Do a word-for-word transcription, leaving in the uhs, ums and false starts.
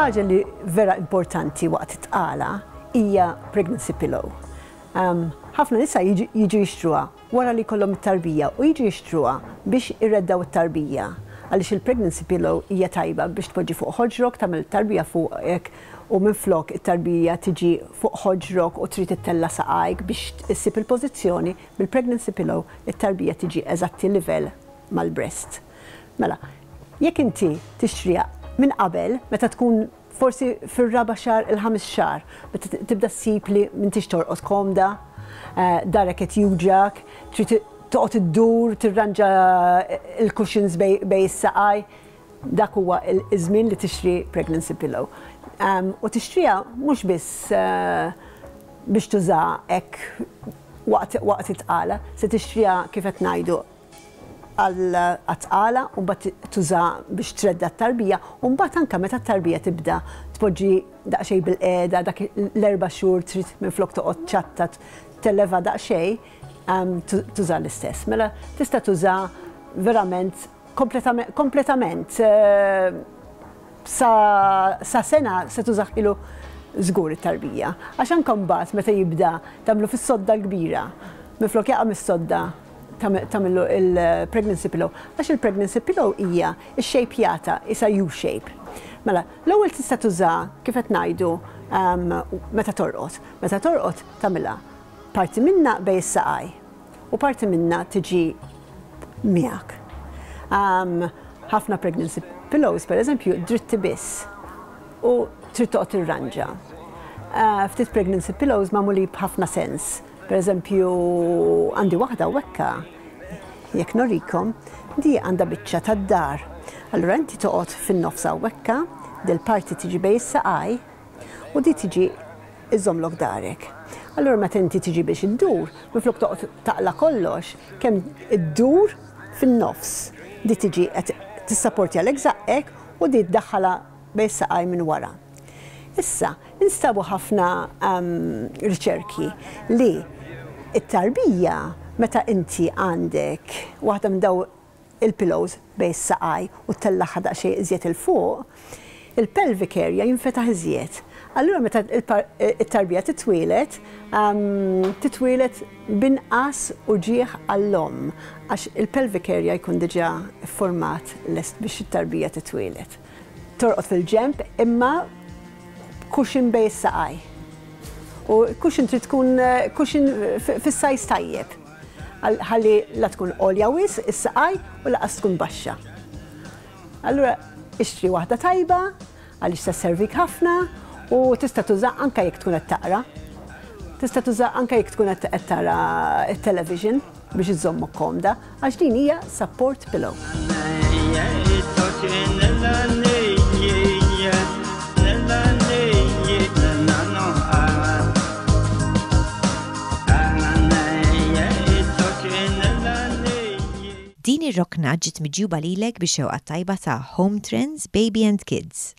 Ħaġa li vera importanti waqt it-tqala hija pregnancy pillow. Um, ħafna nisa jiġu jixtruha wara li jkollhom it-tarbija u jiġu jixtruha biex ireddaw it-tarbija, għaliex il-pregnancy pillow hija tajba biex tpoġġi fuq ħoġrok, tagħmel it-tarbija fuqek u minflok it-tarbija tiġi fuq ħoġrok u trid ittella' saqajk biex issib il-pożizzjoni, bil-pregnancy pillow it-tarbija tiġi eżatti livell mal-breast. Mela, jekk inti tixtriha minn qabel, meta tkun forsi fir-raba' xahar, il-ħames xahar, meta tibda ssib li m'intix torqod komda, eh, darek qed juġgħak, trid toqgħod iddur, tirranġa il-cushions bejn is-saqaj, dak huwa iż-żmien li tixtri pregnancy pillow. Um, u tixtriha mhux biss uh, biex tuża hekk waqt waqt it-tqala, se tixtriha, kif qed ngħidu, għat-tqala u mbagħad tuża biex tredda t-tarbija u mbagħad anke meta t-tarbija tibda tpoġġi daqsxejn bil-qiegħda, dak l-erba' xhur trid minflok toqgħod ċatta telleva daqsxejn, um, tuża l-istess. Mela tista' tuża verament kompletament eh, sa, sa sena se tużah ilu żgur it-tarbija. Għax anke mbagħad meta jibda tagħmlu fis-sodda l-kbira, minflok jaqa' mis-sodda tagħmlu il-pregnancy pillow. Għax il-pregnancy pillow hija x-shape isa U-shape. Mela, l-ewwel tista' tuża, kif qed ngħidu, um, meta torqod. Meta torqod tagħmilha parti minna bejn is-saqaj u parti minna tiġi miegħek. Um, ħafna pregnancy pillows, per eżempju, dritti biss u trid toqgħod tirranġa. Uh, ftit pregnancy pillows magħmuli b'ħafna sens. Per eżempju, għandi waħda wekka, jekk norikom, di għandha biċċa tad-dar. Allura inti toqgħod fin-nofs wekka, dil-parti tiġi bejn is-saqaj u di tiġi iżomlok darek. Allura meta inti tiġi biex iddur, minflok toqgħod taqla kollox, kemm iddur fin-nofs. Di tiġi qed tissapporti għalek żaqqek u di tdaħħala bejn saqaj minn wara. Issa, instabu ħafna um, riċerki li it-tarbija, meta inti għandek waħda minn daw il-pillows bejn saqaj u tellagħha daqsxejn iżjed 'il fuq, il-pelvic area jinfetaħ iżjed. Allura meta it-tarbija titwieled, um, titwieled binqas uġigħ għall-omm, għax il-pelvic area jkun diġà format lest biex it-tarbija titwieled. Torqod fil-ġemp imma cushion bejn saqaj. U cushion trid tkun eh, cushion fis-size tajjeb. Ħalli la tkun għolja wisq is-saqaj u lanqas tkun baxxa. Allura ixtri waħda tajba għaliex se servik ħafna u tista' tuża anke jekk tkun qed taqra. Tista' tuża anke jekk tkun qed tara t-television biex iżommok komda, għax din hija support pillow. Din ir-rokna ġiet miġjuba lilek bix-xewqa tajba ta' Home Trends Baby and Kids.